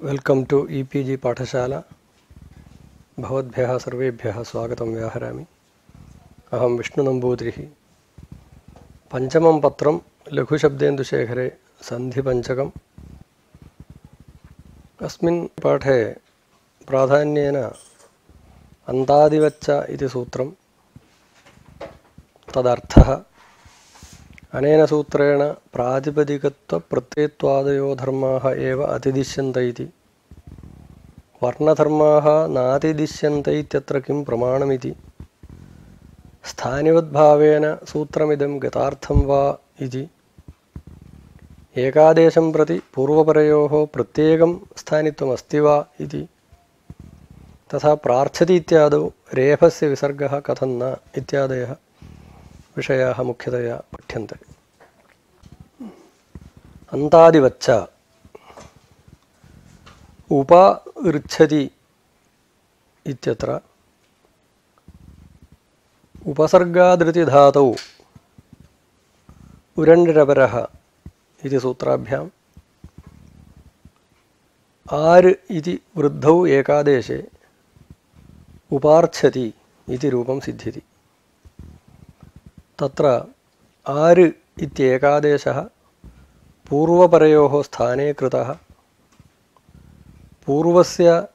Welcome two e-PG पाठशाला। भवद्भ्यः सर्वेभ्यः स्वागतं व्याहरामि। अहं विष्णुनम्बूद्रिः। पञ्चमं पत्रं लघुशब्देन्दुशेखरे सन्धिपञ्चकम्। अस्मिन् पाठे प्राधान्येन अन्तादिवच्च इति सूत्रं, तदर्थः, अनेन सूत्रेण प्रातिपदिकत्वप्रत्ययत्वादयो धर्माः एव अतिदिश्यन्त इति, वर्णधर्माः नातिदिश्यन्त इत्यत्र किं प्रमाणमिति, स्थानिवद्भावेन सूत्रमिदं गतार्थं वा इति, एकादेशं प्रति पूर्वपरयोः प्रत्येकं स्थानित्वमस्ति वा इति, तथा प्रार्थ्यति इत्यादौ रेफस्य विसर्गः कथं न इत्यादयः विषयाः मुख्यतया पठ्यन्ते। अन्तादिवच्च उपऋच्छति इत्यत्र उपसर्गादृतिधातौ उरण्यरपरः इति सूत्राभ्याम् आर् इति वृद्धौ एकादेशे उपार्च्छति इति रूपं सिद्ध्यति। तत्र आर् इत्येकादेशः पूर्वपरयोः स्थाने कृतः, पूर्वस्य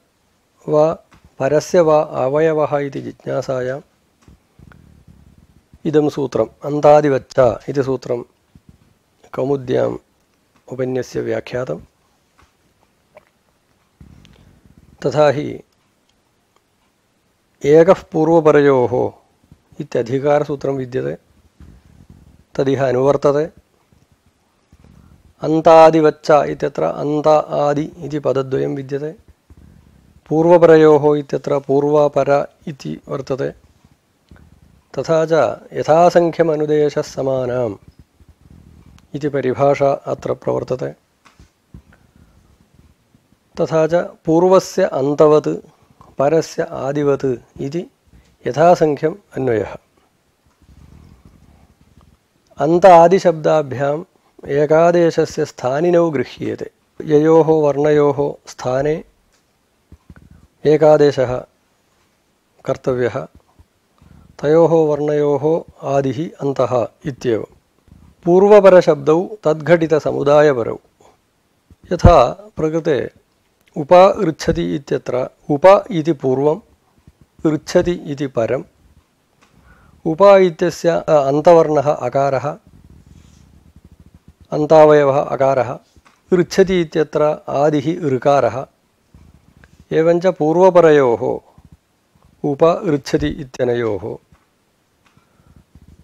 वा परस्य वा अवयवः इति जिज्ञासायाम् इदं सूत्रम् अन्तादिवच्च इति सूत्रं कौमुद्याम् उपन्यस्य व्याख्यातं। तथा हि एकः पूर्वपरयोः इत्यधिकारसूत्रं विद्यते, तदिह अनुवर्तते। अन्तादिवच्च इत्यत्र अन्त आदि इति पदद्वयं विद्यते, पूर्वपरयोः इत्यत्र पूर्वपर इति वर्तते। तथा च यथासङ्ख्यमनुदेशः समानाम् इति परिभाषा अत्र प्रवर्तते। तथा च पूर्वस्य अन्तवत् परस्य आदिवत् इति यथासङ्ख्यम् अन्वयः। अन्त आदिशब्दाभ्याम् एकादेशस्य स्थानिनौ गृह्येते। ययोः वर्णयोः स्थाने एकादेशः कर्तव्यः, तयोः वर्णयोः आदिः अन्तः इत्येव। पूर्वपरशब्दौ तद्घटितसमुदायपरौ। यथा प्रकृते उप ऋच्छति इत्यत्र उप इति पूर्वं, ऋच्छति इति परम्। उप इत्यस्य अन्तवर्णः अकारः, अन्तावयवः अकारः। ऋच्छति इत्यत्र आदिः ऋकारः। एवञ्च पूर्वपरयोः उप ऋच्छति इत्यनयोः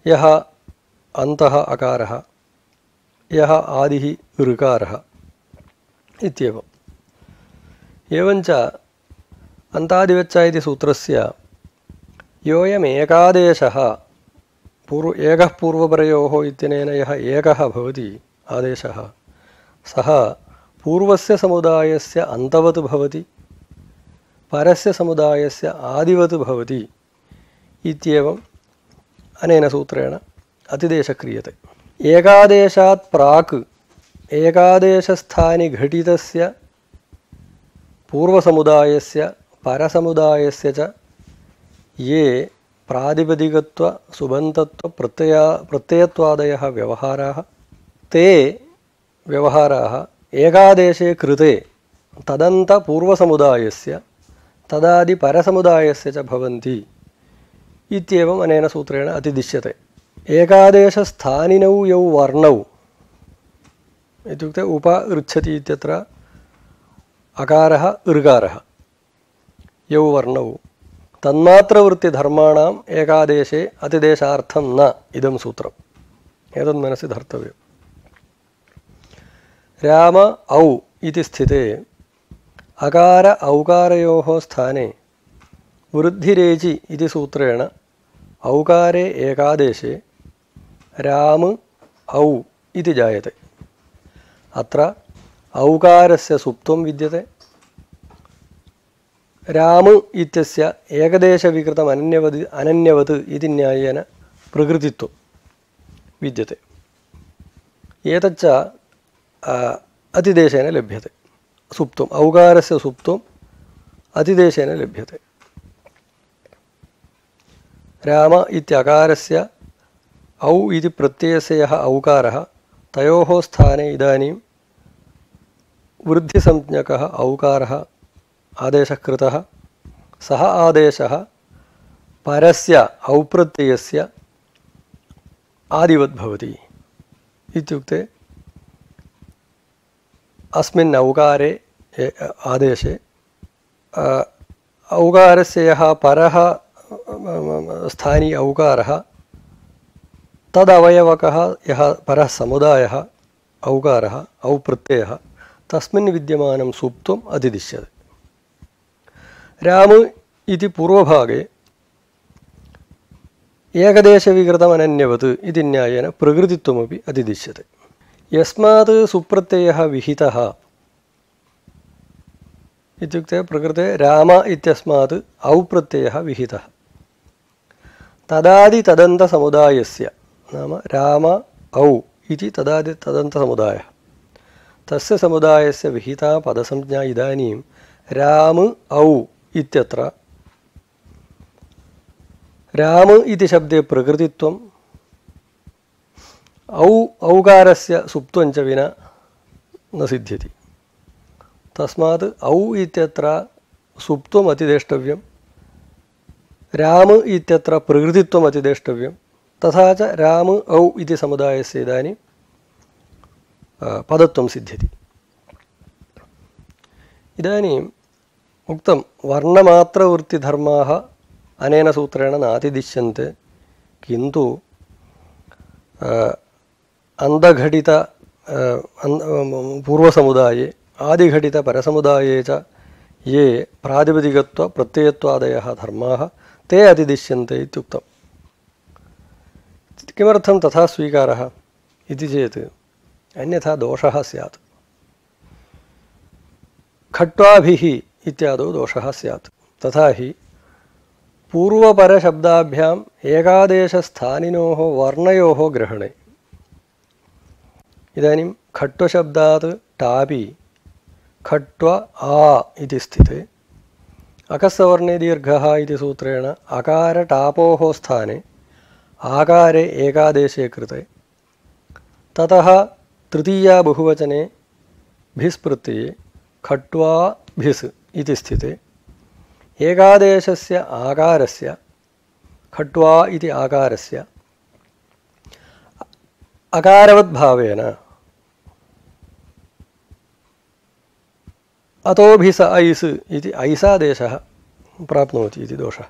यः अन्तः अकारः, यः आदिः ऋकारः इत्येवम्। एवञ्च अन्तादिवच्च इति सूत्रस्य योऽयमेकादेशः एकः पूर्वपरयोः इत्यनेन यः एकः भवति आदेशः, सः पूर्वस्य समुदायस्य अन्तवत् भवति, परस्य समुदायस्य आदिवत् भवति इत्येवम् अनेन सूत्रेण अतिदेशः क्रियते। एकादेशात् प्राक् एकादेशस्थानि घटितस्य पूर्वसमुदायस्य परसमुदायस्य च ये प्रातिपदिकत्व सुबन्तत्व प्रत्ययत्वादयः व्यवहाराः, ते व्यवहाराः एकादेशे कृते तदन्तपूर्वसमुदायस्य तदादिपरसमुदायस्य च भवन्ति इत्येवम् अनेन सूत्रेण अतिदिश्यते। एकादेशस्थानिनौ यौ वर्णौ इत्युक्ते उप ऋच्छति इत्यत्र अकारः ऋकारः, यौ वर्णौ तन्मात्रवृत्तिधर्माणाम् एकादेशे अतिदेशार्थं न इदं सूत्रम्। एतद् मनसि धर्तव्यम्। राम औ इति स्थिते अकार औकारयोः स्थाने वृद्धिरेचि इति सूत्रेण औकारे एकादेशे राम औ इति जायते। अत्र औकारस्य सुप्त्वं विद्यते। राम इत्यस्य एकदेशविकृतम् अनन्यवत् इति न्यायेन प्रकृतित्वं विद्यते। एतच्च अतिदेशेन लभ्यते। सुप्तम् औकारस्य सुप्तम् अतिदेशेन लभ्यते। राम इत्यकारस्य औ इति प्रत्ययस्य यः औकारः तयोः स्थाने इदानीं वृद्धिसंज्ञकः औकारः आदेशः कृतः। सः आदेशः परस्य औप्रत्ययस्य आदिवत् भवति। इत्युक्ते अस्मिन् औकारे आदेशे औकारस्य यः परः स्थानी औकारः तदवयवकः यः परः समुदायः औकारः औप्रत्ययः तस्मिन् विद्यमानं सुप्तम् अधिदिश्यते। राम इति पूर्वभागे एकदेशविकृतमनन्यवत् इति न्यायेन प्रकृतित्वमपि अधिदिश्यते। यस्मात् सुप्रत्ययः विहितः इत्युक्ते प्रकृते राम इत्यस्मात् औप्रत्ययः विहितः तदादितदन्तसमुदायस्य नाम राम औ इति तदादितदन्तसमुदायः तस्य समुदायस्य विहिता पदसंज्ञा इदानीं राम औ इत्यत्र राम इति शब्दे प्रकृतित्वं औकारस्य सुप्त्वं च विना न सिद्ध्यति। तस्मात् औ इत्यत्र सुप्त्वम् अतिदेष्टव्यं राम इत्यत्र प्रकृतित्वम् अतिदेष्टव्यं तथा च राम औ इति समुदायस्य इदानीं पदत्वं सिद्ध्यति। इदानीम् उक्तं वर्णमात्रवृत्तिधर्माः अनेन सूत्रेण नातिदिश्यन्ते किन्तु अन्धघटित पूर्वसमुदाये आदिघटितपरसमुदाये च ये प्रातिपदिकत्वप्रत्ययत्वादयः धर्माः ते अधिदिश्यन्ते इत्युक्तम्। किमर्थं तथा स्वीकारः इति चेत् अन्यथा दोषः स्यात्। खट्वाभिः इत्यादौ दोषः स्यात्। तथा हि पूर्वपरशब्दाभ्याम् एकादेशस्थानिनोः वर्णयोः ग्रहणे इदानीं खट्वशब्दात् टापि खट्व आ इति स्थिते अकस्सवर्णे दीर्घः इति सूत्रेण अकारटापोः स्थाने आकारे एकादेशे कृते ततः तृतीया बहुवचने भिस् प्रत्यये खट्वा भिस् इति स्थिते एकादेशस्य आकारस्य खट्वा इति आकारस्य अकारवद्भावेन अतोभिस ऐस् इति ऐसादेशः प्राप्नोति इति दोषः।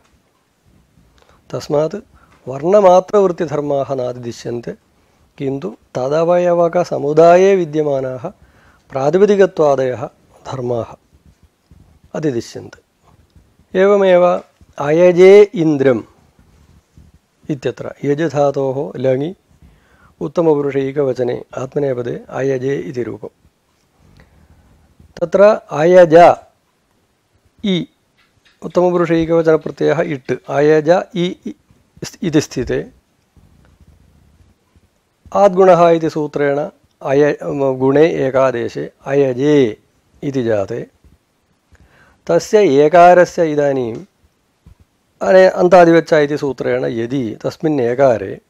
तस्मात् वर्णमात्रवृत्तिधर्माः नातिदिश्यन्ते किन्तु तदवयवकसमुदाये विद्यमानाः प्रातिपदिकत्वादयः धर्माः अधिदिश्यन्ते। एवमेव अयजे इन्द्रम् इत्यत्र यज धातोः लङि उत्तमपुरुषैकवचने आत्मनेपदे अयजे इति रूपम्। तत्र अयज इ उत्तमपुरुषैकवचनप्रत्ययः इट् अयज इ इति स्थिते आद्गुणः इति सूत्रेण गुणे एकादेशे अयजे इति जाते तस्य एकारस्य इदानीम् अन्तादिवच्च इति सूत्रेण यदि तस्मिन् एकारे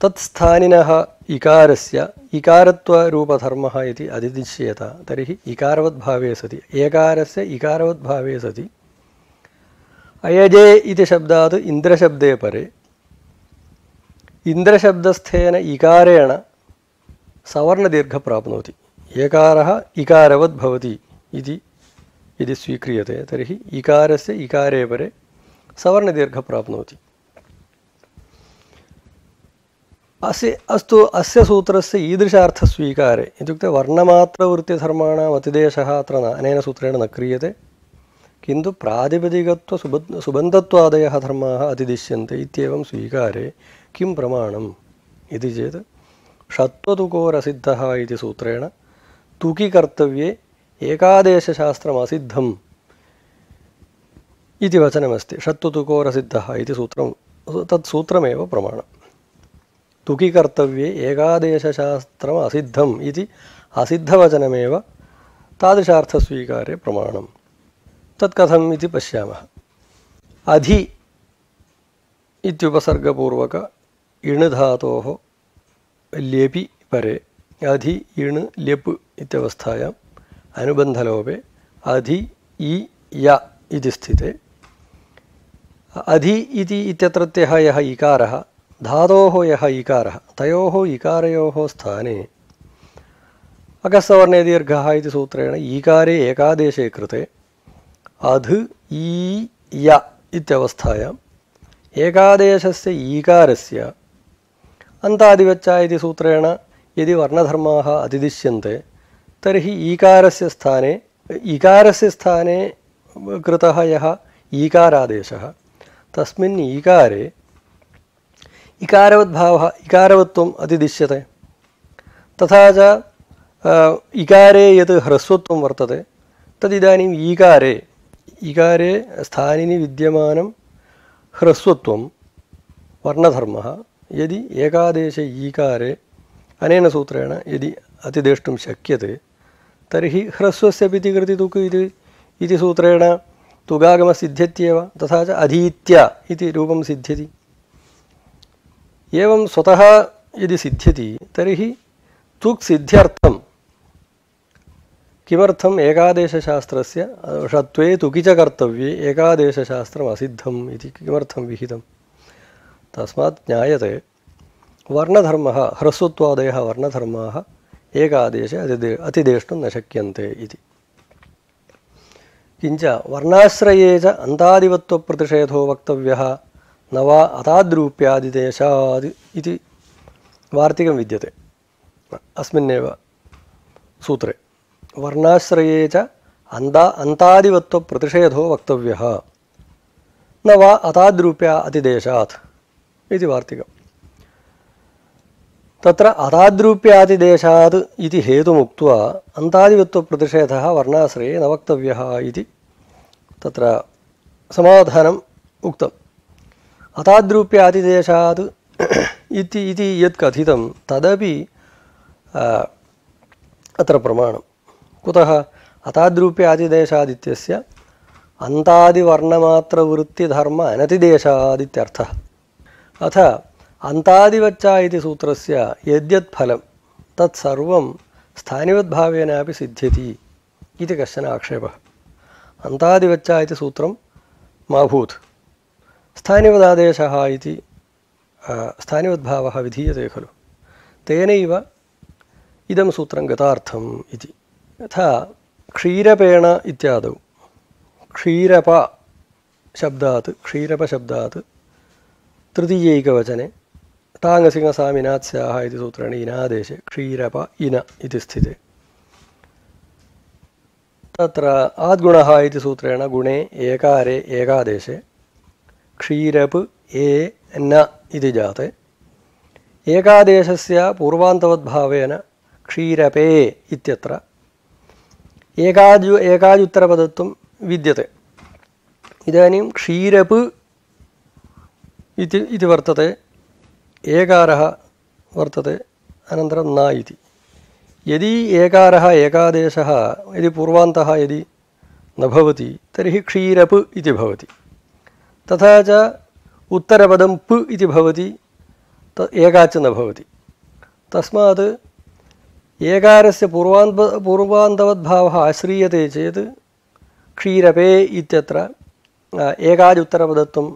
तत्स्थानिनः इकारस्य इकारत्वरूपधर्मः इति अधिदिश्येत तर्हि इकारवद्भावे सति एकारस्य इकारवद्भावे सति अयजे इति शब्दात् इन्द्रशब्दे परे इन्द्रशब्दस्थेन इकारेण सवर्णदीर्घ प्राप्नोति एकारः इकारवद् भवति इति यदि स्वीक्रियते तर्हि इकारस्य इकारे परे सवर्णदीर्घ प्राप्नोति। अस्तु अस्य सूत्रस्य ईदृशार्थस्वीकारे इत्युक्ते वर्णमात्रवृत्तिधर्माणाम् अतिदेशः अत्र अनेन सूत्रेण न क्रियते किन्तु प्रातिपदिकत्वसुबन्धत्वादयः धर्माः अतिदिश्यन्ते इत्येवं स्वीकारे किं प्रमाणम् इति चेत् षत्वतुकोरसिद्धः इति सूत्रेण तुकि कर्तव्ये एकादेशशास्त्रमसिद्धम् इति वचनमस्ति। षत्वतुकोरसिद्धः इति सूत्रं तत् सूत्रमेव प्रमाणम्। तुकि कर्तव्ये एकादेशशास्त्रम् असिद्धम् इति असिद्धवचनमेव तादृशार्थस्वीकारे प्रमाणं। तत् कथम् इति पश्यामः। अधि इत्युपसर्गपूर्वक इण् धातोः ल्यपि परे अधि इण् ल्यप् इत्यवस्थायाम् अनुबन्धलोपे अधि इ य इति स्थिते अधि इति इत्यत्रत्यः यः इकारः धातोः यः इकारः तयोः इकारयोः स्थाने अकस्सवर्णे दीर्घः इति सूत्रेण ईकारे एकादेशे कृते अध् ई य इत्यवस्थायाम् एकादेशस्य ईकारस्य अन्तादिवच्चा इति सूत्रेण यदि वर्णधर्माः अतिदिश्यन्ते तर्हि ईकारस्य स्थाने कृतः यः ईकारादेशः तस्मिन् ईकारे इकारवद्भावः इकारवत्वम् अतिदिश्यते। तथा च इकारे यत् ह्रस्वत्वं वर्तते तदिदानीम् ईकारे स्थानिनि विद्यमानं ह्रस्वत्वं वर्णधर्मः यदि एकादेशे ईकारे अनेन सूत्रेण यदि अतिदेष्टुं शक्यते तर्हि ह्रस्वस्य पिति कृति तुक् इति सूत्रेण तुगागमः सिद्ध्यत्येव। तथा च अधीत्य इति रूपं सिद्ध्यति। एवं स्वतः यदि सिद्ध्यति तर्हि तुक् सिद्ध्यर्थं किमर्थम् एकादेशशास्त्रस्य षत्वे तुकि च कर्तव्ये एकादेशशास्त्रम् असिद्धम् इति किमर्थं विहितं? तस्मात् ज्ञायते वर्णधर्मः ह्रस्वत्वादयः वर्णधर्माः एकादेशे अतिदेष्टुं न शक्यन्ते इति। किञ्च वर्णाश्रये च अन्तादिवत्वप्रतिषेधो वक्तव्यः न वा अताद्रूप्यादिदेशाद् इति वार्तिकं विद्यते अस्मिन्नेव सूत्रे। वर्णाश्रये च अन्तादिवत्वप्रतिषेधो वक्तव्यः न वा अताद्रूप्या अतिदेशात् इति वार्तिकम्। तत्र अताद्रूप्यादिदेशात् इति हेतुमुक्त्वा अन्तादिवत्वप्रतिषेधः वर्णाश्रये न वक्तव्यः इति तत्र समाधानम् उक्तम्। अताद्रूप्यादिदेशात् इति यत् कथितं तदपि अत्र प्रमाणं। कुतः? अताद्रूप्यादिदेशादित्यस्य अन्तादिवर्णमात्रवृत्तिधर्म अनतिदेशादित्यर्थः। अथ अन्तादिवच्चा इति सूत्रस्य यद्यत् फलं तत्सर्वं स्थानिवद्भावेनापि सिद्ध्यति इति कश्चन आक्षेपः। अन्तादिवच्चा इति सूत्रं मा भूत्, स्थानिवदादेशः इति स्थानिवद्भावः विधीयते खलु, तेनैव इदं सूत्रं गतार्थम् इति। यथा क्षीरपेण इत्यादौ क्षीरपशब्दात् तृतीयैकवचने टाङ्गसिंहसामिनात् स्याः इति सूत्रेण इनादेशे क्षीरप इन इति स्थिते। तत्र आद्गुणः इति सूत्रेण गुणे एकारे एकादेशे क्षीरप् ए न इति जाते। एकादेशस्य पूर्वान्तवद्भावेन क्षीरपे इत्यत्र एकाजुत्तरपदत्वं विद्यते। इदानीं क्षीरप् इति वर्तते, एकारः वर्तते, अनन्तरं न इति। यदि एकारः एकादेशः यदि पूर्वान्तः यदि न भवति तर्हि क्षीरप् इति भवति। तथा च उत्तरपदं प इति भवति, एकाच न भवति। तस्मात् एकारस्य पूर्वान्तवद्भावः आश्रीयते चेत् क्षीरपे इत्यत्र एकाजुत्तरपदत्वं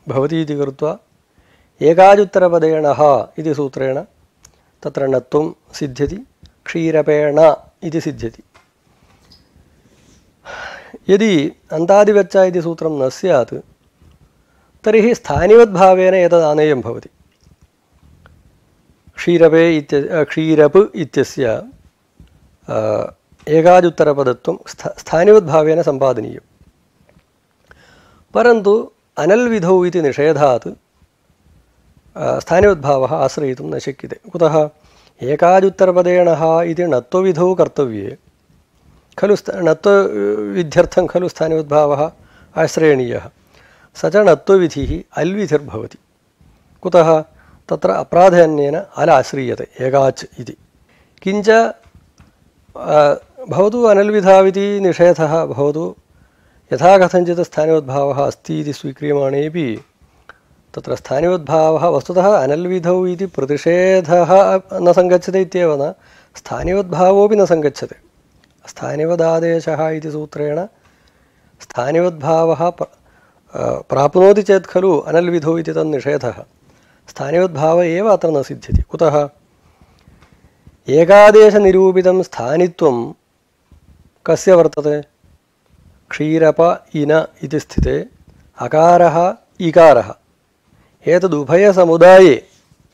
भवति इति कृत्वा एकाजुत्तरपदेण इति सूत्रेण तत्र णत्वं सिद्ध्यति, क्षीरपेण इति सिद्ध्यति। यदि अन्तादिवच्चा इति सूत्रं न स्यात् तर्हि स्थानिवद्भावेन एतद् आनेयं भवति। क्षीरप् इत्यस्य एकाजुत्तरपदत्वं स्थानिवद्भावेन सम्पादनीयं। परन्तु अनल्विधौ इति निषेधात् स्थानिवद्भावः आश्रयितुं न शक्यते। कुतः? एकाजुत्तरपदेण इति णत्वविधौ कर्तव्ये खलु, णत्वविध्यर्थं खलु स्थानिवद्भावः आश्रयणीयः। स च णत्वविधिः अल्विधिर्भवति। कुतः? तत्र अप्राधान्येन अल आश्रीयते एकाच् इति। किञ्च भवतु अनल्विधाविति निषेधः भवतु यथा कथञ्चित् स्थानिवद्भावः अस्ति इति स्वीक्रियमाणेपि तत्र स्थानिवद्भावः वस्तुतः अनल्विधौ इति प्रतिषेधः न सङ्गच्छते इत्येव न स्थानिवद्भावोऽपि न सङ्गच्छते स्थानिवदादेशः इति सूत्रेण स्थानिवद्भावः प्राप्नोति चेत् खलु अनल्विधौ इति तन्निषेधः स्थानिवद्भावः एव अत्र न सिद्ध्यति कुतः एकादेशनिरूपितं स्थानित्वं कस्य वर्तते क्षीरप इन इति स्थिते अकारः इकारः एतदुभयसमुदाये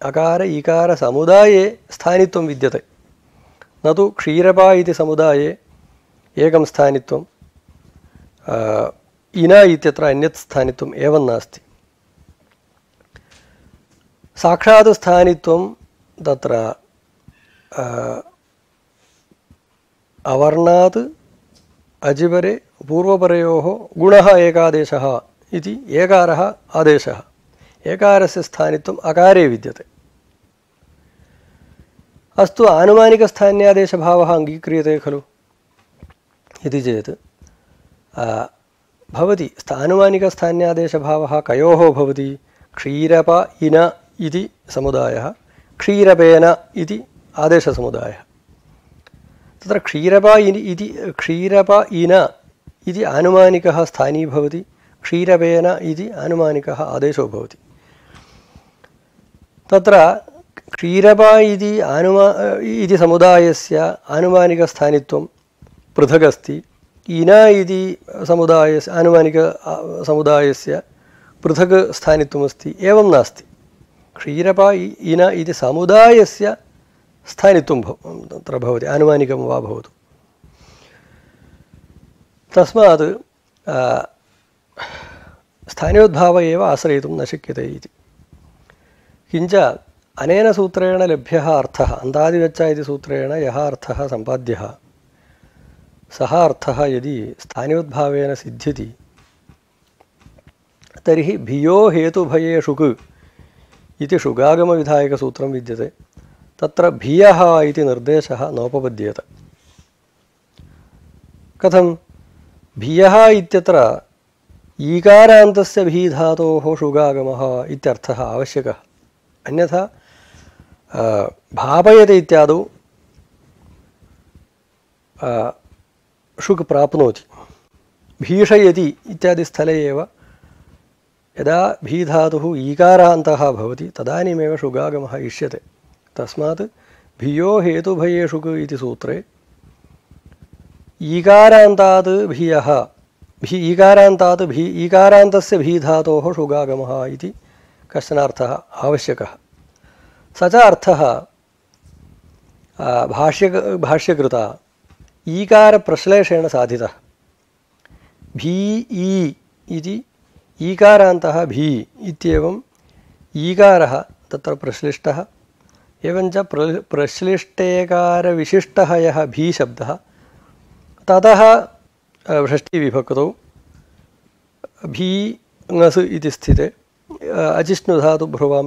अकार इकार समुदाये स्थानित्वं विद्यते न तु क्षीरप इति समुदाये एकं स्थानित्वं इन इत्यत्र अन्यत् स्थानित्वम् एवं नास्ति साक्षात् स्थानित्वं तत्र अवर्णात् अजिवरे पूर्वपरयोः गुणः एकादेशः इति एकारः आदेशः एकारस्य स्थानित्वम् अकारे विद्यते अस्तु आनुमानिकस्थान्यादेशभावः अङ्गीक्रियते खलु इति चेत् भवति आनुमानिकस्थान्यादेशभावः कयोः भवति क्षीरप इन इति समुदायः क्षीरपेन इति आदेशसमुदायः तत्र क्षीरप इन इति आनुमानिकः स्थानी भवति क्षीरपेन इति आनुमानिकः आदेशो भवति तत्र क्षीरप इति समुदायस्य आनुमानिकस्थानित्वं पृथगस्ति इन इति समुदायस्य आनुमानिकसमुदायस्य पृथक् स्थानित्वमस्ति एवं नास्ति क्षीरप इन इति समुदायस्य स्थानित्वं तत्र भवति आनुमानिकं वा भवतु तस्मात् स्थानियोद्भावः एव आश्रयितुं न शक्यते इति किञ्च अनेन सूत्रेण लभ्यः अर्थः अन्तादिगच्छ इति सूत्रेण यः अर्थः सम्पाद्यः सः अर्थः यदि स्थानियोद्भावेन सिद्ध्यति तर्हि भियो हेतुभये शुक् इति शुगागमविधायकसूत्रं विद्यते तत्र भियः इति निर्देशः नोपपद्येत कथं भियः इत्यत्र ईकारान्तस्य भीधातोः शुगागमः इत्यर्थः आवश्यकः अन्यथा भापयते इत्यादौ शुक् प्राप्नोति भीषयति इत्यादि स्थले एव यदा भीधातुः ईकारान्तः भवति तदानीमेव शुगागमः इष्यते तस्मात् भियो हेतुभये शुक् इति सूत्रे ईकारान्तात् भियः ईकारान्तस्य भीधातोः शुगागमः इति कश्चन अर्थः आवश्यकः स च अर्थः भाष्यकृता ईकारप्रश्लेषेण साधितः भी इति ईकारान्तः भी इत्येवं ईकारः तत्र प्रश्लिष्टः एवञ्च प्रश्लिष्टेकारविशिष्टः यः भी शब्दः ततः षष्ठीविभक्तौ भी ङस् इति स्थिते अजिष्णुधातुभ्रुवां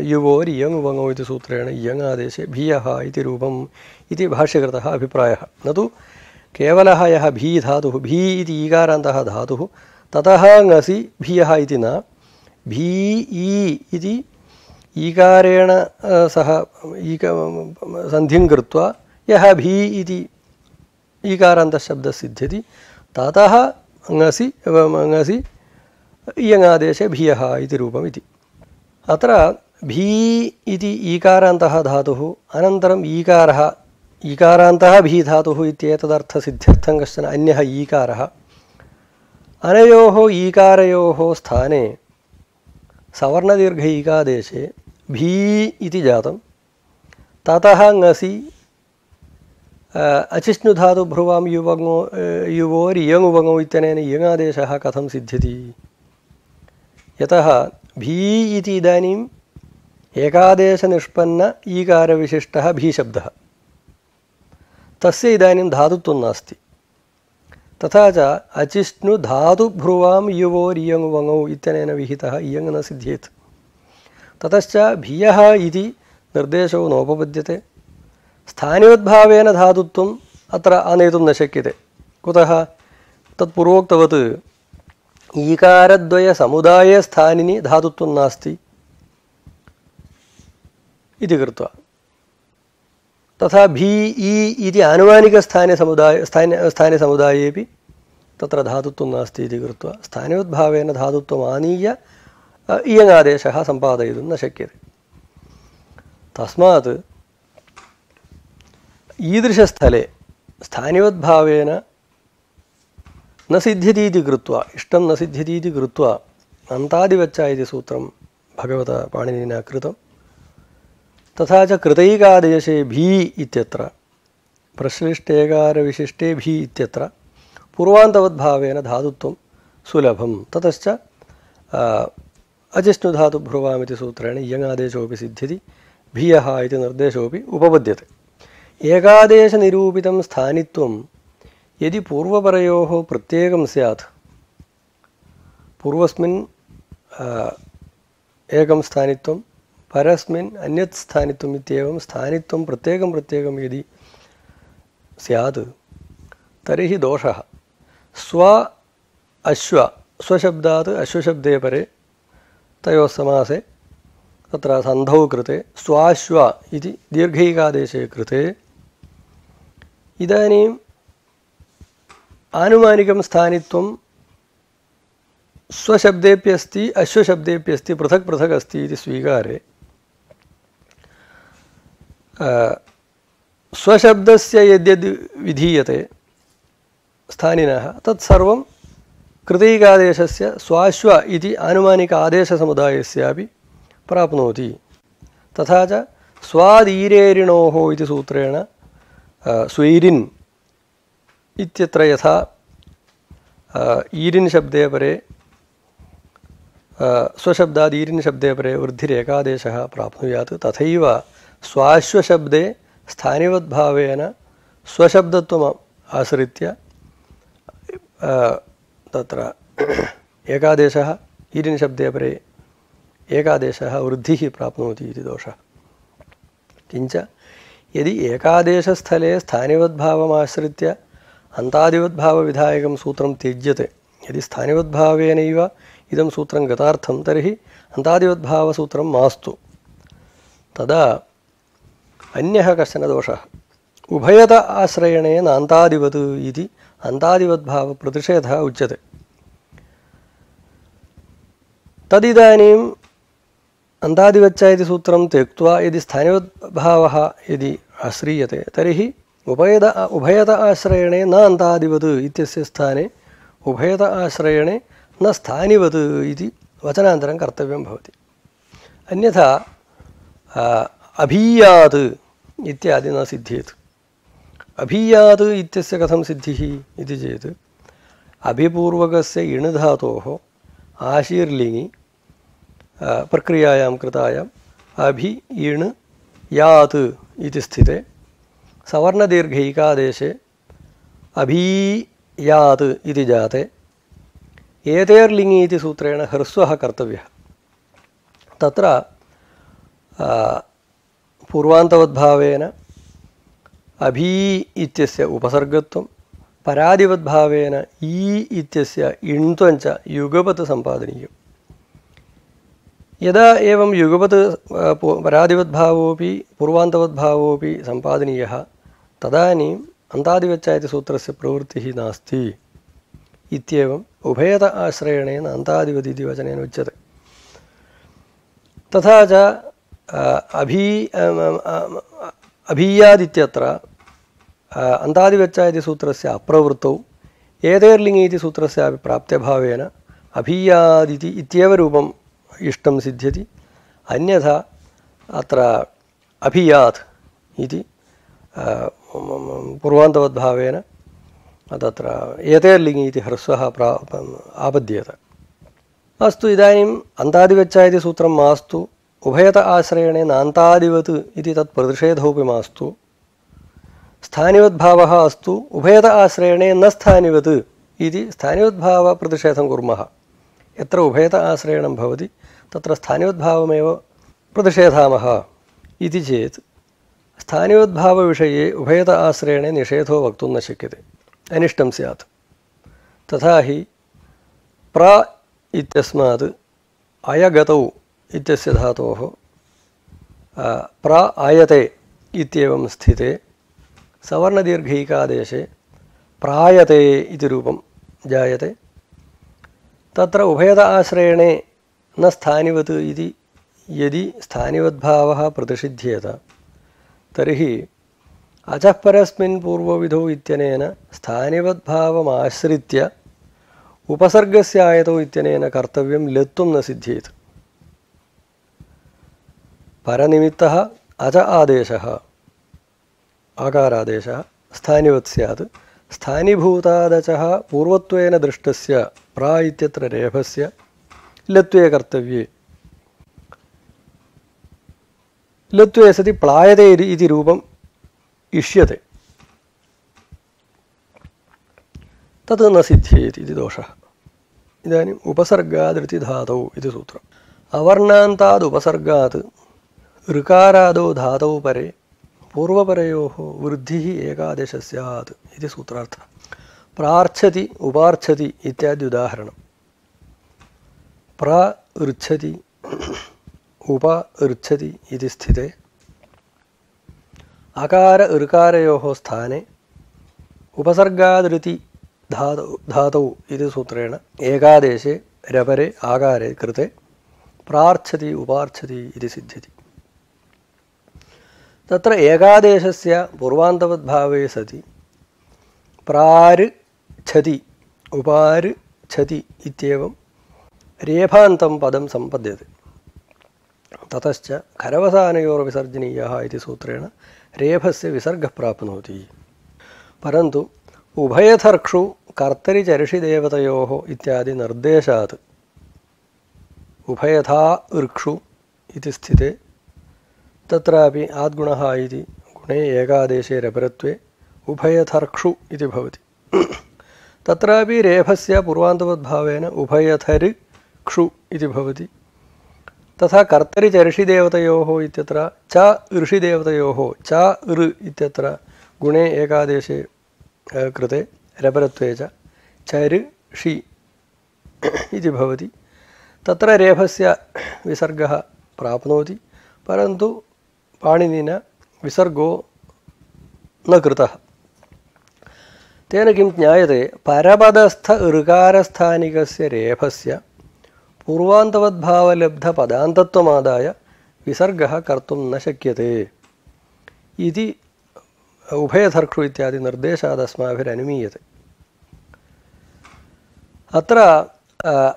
युवोर्यङ् वङौ इति सूत्रेण यङ् भियः इति रूपम् इति भाष्यकृतः अभिप्रायः न तु केवलः यः भी धातुः भी इति ईकारान्तः धातुः ततः ङसि भियः इति न भी इति ईकारेण सह सन्धिं कृत्वा यः भी इति ईकारान्तशब्दः सिद्ध्यति ततः ङसि इयङादेशे भियः इति रूपमिति अत्र भी इति ईकारान्तः धातुः अनन्तरम् ईकारान्तः भी धातुः इत्येतदर्थसिद्ध्यर्थं कश्चन अन्यः ईकारः अनयोः ईकारयोः स्थाने सवर्णदीर्घ ईकादेशे भी इति जातं ततः ङसि अचिष्णुधातुभ्रुवां युवोर्यङ् वङौ इत्यनेन इयङादेशः कथं सिद्ध्यति यतः भी इति इदानीम् एकादेशनिष्पन्न ईकारविशिष्टः भीशब्दः तस्य इदानीं धातुत्वं नास्ति तथा च अचिष्णुधातुभ्रुवां युवोर्यङ् वङौ इत्यनेन विहितः इयङ् न सिद्ध्येत् ततश्च भियः इति निर्देशो नोपपद्यते स्थानियोद्भावेन धातुत्वम् अत्र आनेतुं न शक्यते। कुतः? तत्पूर्वोक्तवत् ईकारद्वयसमुदाये स्थानिनि धातुत्वं नास्ति इति कृत्वा, तथा भी ई इति आनुमानिकस्थाने स्थाने समुदायेपि तत्र धातुत्वं नास्ति इति कृत्वा स्थानिवद्भावेन धातुत्वम् आनीय इयङादेशः सम्पादयितुं न शक्यते। तस्मात् ईदृशस्थले स्थानिवद्भावेन न सिद्ध्यति इति कृत्वा, इष्टं न सिद्ध्यति इति कृत्वा अन्तादिवच्चा इति सूत्रं भगवता पाणिनिना कृतं। तथा च कृतैकादेशे भी इत्यत्र प्रश्लिष्टेकारविशिष्टे भी इत्यत्र पूर्वान्तवद्भावेन धातुत्वं सुलभं। ततश्च अजिष्णुधातुभ्रुवामिति सूत्रेण इयङादेशोऽपि सिद्ध्यति, भियः इति निर्देशोऽपि उपपद्यते। एकादेशनिरूपितं स्थानित्वं यदि पूर्वपरयोः प्रत्येकं स्यात्, पूर्वस्मिन् एकं स्थानित्वं परस्मिन् अन्यत् स्थानित्वम् इत्येवं स्थानित्वं प्रत्येकं प्रत्येकं यदि स्यात् तर्हि दोषः। स्व अश्व, स्वशब्दात् अश्वशब्दे परे तयोः समासे तत्र सन्धौ कृते स्वाश्व इति दीर्घैकादेशे कृते इदानीम् आनुमानिकं स्थानित्वं स्वशब्देप्यस्ति अश्वशब्देप्यस्ति, पृथक् पृथक् अस्ति इति स्वीकारे स्वशब्दस्य यद्यद् विधीयते स्थानिनः तत्सर्वं कृतैकादेशस्य स्वाश्व इति आनुमानिक आदेशसमुदायस्यापि प्राप्नोति। तथा च स्वादीरेरिणोः इति सूत्रेण स्वैरिन् इत्यत्र यथा ईरिन् शब्दे परे स्वशब्दाद् ईरिन् शब्दे परे वृद्धिरेकादेशः प्राप्नुयात्, तथैव स्वाश्वशब्दे स्थानिवद्भावेन स्वशब्दत्वम् आश्रित्य तत्र एकादेशः ईरिन् शब्दे परे एकादेशः वृद्धिः प्राप्नोति इति दोषः। किञ्च यदि एकादेशस्थले स्थानिवद्भावमाश्रित्य अन्तादिवद्भावविधायकं सूत्रं त्यज्यते, यदि स्थानिवद्भावेनैव इदं सूत्रं गतार्थं तर्हि अन्तादिवद्भावसूत्रं मास्तु। तदा अन्यः कश्चन दोषः, उभयत आश्रयणेन अन्तादिवत् इति अन्तादिवद्भावप्रतिषेधः उच्यते। तदिदानीम् अन्तादिवच्च इति सूत्रं त्यक्त्वा यदि स्थानिवद्भावः यदि आश्रीयते तर्हि उभयत आश्रयणे न अन्तादिवत् इत्यस्य स्थाने उभयत आश्रयणे न स्थानिवत् इति वचनान्तरं कर्तव्यं भवति। अन्यथा अभीयात् इत्यादि न सिद्ध्येत्। अभीयात् इत्यस्य कथं सिद्धिः इति चेत् अभिपूर्वकस्य इण् धातोः आशीर्लिङि प्रक्रियायां कृतायाम् अभि इण् यात् इति स्थिते सवर्णदीर्घैकादेशे अभीयात् इति जाते एतेर्लिङि इति सूत्रेण ह्रस्वः कर्तव्यः। तत्र पूर्वान्तवद्भावेन अभी इत्यस्य उपसर्गत्वं, परादिवद्भावेन ई इत्यस्य इण्त्वञ्च युगपत् सम्पादनीयम्। यदा एवं युगपत् परादिवद्भावोऽपि पूर्वान्तवद्भावोऽपि सम्पादनीयः तदानीम् अन्तादिवच्च इति सूत्रस्य प्रवृत्तिः नास्ति इत्येवम् उभयत आश्रयणेन अन्तादिवत् इति वचनेन उच्यते। तथा च अभीयादित्यत्र अन्तादिवच्च इति सूत्रस्य अप्रवृत्तौ एतेर्लिङि इति सूत्रस्यापि प्राप्त्यभावेन अभीयादिति इत्येव रूपम् इष्टं सिद्ध्यति। अन्यथा अत्र अभियात् इति पूर्वान्तवद्भावेन तत्र एतेर्लिङि इति ह्रस्वः आपद्येत। अस्तु, इदानीम् अन्तादिवच्च इति सूत्रं मास्तु, उभयत आश्रयणे नान्तादिवत् इति तत् प्रतिषेधोऽपि मास्तु, स्थानिवद्भावः अस्तु, उभयत आश्रयणे न स्थानिवत् इति स्थानिवद्भावप्रतिषेधं कुर्मः। यत्र उभयत आश्रयणं भवति तत्र स्थानिवद्भावमेव प्रतिषेधामः इति चेत् स्थानिवद्भावविषये उभयत आश्रयणे निषेधो वक्तुं न शक्यते, अनिष्टं स्यात्। तथा हि प्र इत्यस्मात् अयगतौ इत्यस्य धातोः प्र आयते इत्येवं स्थिते सवर्णदीर्घैकादेशे प्रायते इति रूपं जायते। तत्र उभयत आश्रयणे न स्थानिवत् इति यदि स्थानिवद्भावः प्रतिषिध्येत तर्हि अचः परस्मिन् पूर्वविधौ इत्यनेन स्थानिवद्भावमाश्रित्य उपसर्गस्य आयतौ इत्यनेन कर्तव्यं लत्वं न सिद्ध्येत्। परनिमित्तः अच आदेशः आकारादेशः स्थानिवत् स्यात्। स्थानीभूतादचः पूर्वत्वेन दृष्टस्य प्रा इत्यत्र रेफस्य लत्वे कर्तव्ये। लत्वे सति प्लायते इति रूपम् इष्यते, तत् न सिद्ध्येत् इति दोषः। इदानीम् उपसर्गादृति धातौ इति सूत्रम्। अवर्णान्ताद् उपसर्गात् ऋकारादौ धातौ परे पूर्वपरयोः वृद्धिः एकादेश स्यात् इति सूत्रार्थः। प्रार्च्छति उपार्च्छति इत्यादि उदाहरणम्। प्रार्च्छति उपार्च्छति इति स्थिते अकार ऋकारयोः स्थाने उपसर्गादृति धातौ इति सूत्रेण एकादेशे रपरे आकारे कृते प्रार्च्छति उपार्च्छति इति सिद्ध्यति। तत्र एकादेशस्य पूर्वान्तवद्भावे सति प्रार्च्छति उपार्च्छति इत्येवं रेफान्तं पदं सम्पद्यते। ततश्च खरवसानयोर्विसर्जनीयः इति सूत्रेण रेफस्य विसर्गः प्राप्नोति। परन्तु उभयथर्क्षु कर्तरिचर्षिदेवतयोः इत्यादि निर्देशात् उभयथा ऋक्षु इति स्थिते तत्रापि आद्गुणः इति गुणे एकादेशे रपरत्वे उभयथर्क्षु इति भवति। तत्रापि रेफस्य पूर्वान्तवद्भावेन उभयथर्क्षु इति भवति। तथा कर्तरिचर्षिदेवतयोः इत्यत्र च ऋषिदेवतयोः च ऋ इत्यत्र गुणे एकादेशे कृते रपरत्वे च चर्षि इति भवति। तत्र रेफस्य विसर्गः प्राप्नोति, परन्तु पाणिनिना विसर्गो न कृतः। तेन किं ज्ञायते? परपदस्थ ऋकारस्थानिकस्य रेफस्य पूर्वान्तवद्भावलब्धपदान्तत्वमादाय विसर्गः कर्तुं न शक्यते इति उभयथर्क्षु इत्यादि निर्देशादस्माभिरनुमीयते। अत्र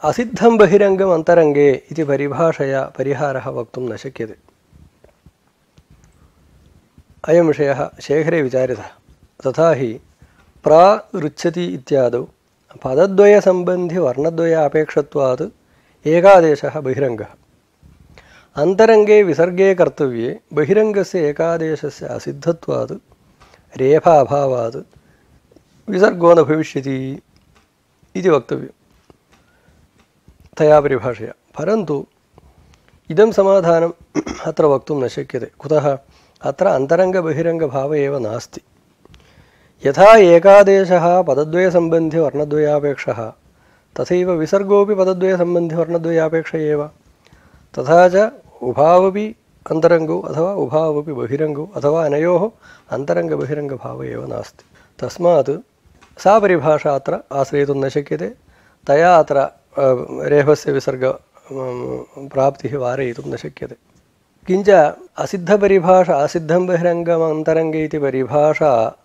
असिद्धं बहिरङ्गम् अन्तरङ्गे इति परिभाषया परिहारः वक्तुं न शक्यते। अयं विषयः शेखरे विचारितः। तथा हि प्राऋच्छति इत्यादौ पदद्वयसम्बन्धिवर्णद्वयापेक्षत्वात् एकादेशः बहिरङ्गः। अन्तरङ्गे विसर्गे कर्तव्ये बहिरङ्गस्य एकादेशस्य असिद्धत्वात् रेफाभावात् विसर्गो न भविष्यति इति वक्तव्यं तया परिभाषया। परन्तु इदं समाधानम् अत्र वक्तुं न शक्यते। कुतः? अत्र अन्तरङ्गबहिरङ्गभाव एव नास्ति। यथा एकादेशः पदद्वयसम्बन्धिवर्णद्वयापेक्षः तथैव विसर्गोऽपि पदद्वयसम्बन्धिवर्णद्वयापेक्ष एव। तथा च उभावपि अन्तरङ्गौ अथवा उभावपि बहिरङ्गौ अथवा अनयोः अन्तरङ्गबहिरङ्गभाव एव नास्ति। तस्मात् सा परिभाषा अत्र आश्रयितुं न शक्यते। तया अत्र रेफस्य विसर्ग प्राप्तिः वारयितुं न शक्यते। किञ्च असिद्धपरिभाषा असिद्धं बहिरङ्गमन्तरङ्गे इति परिभाषा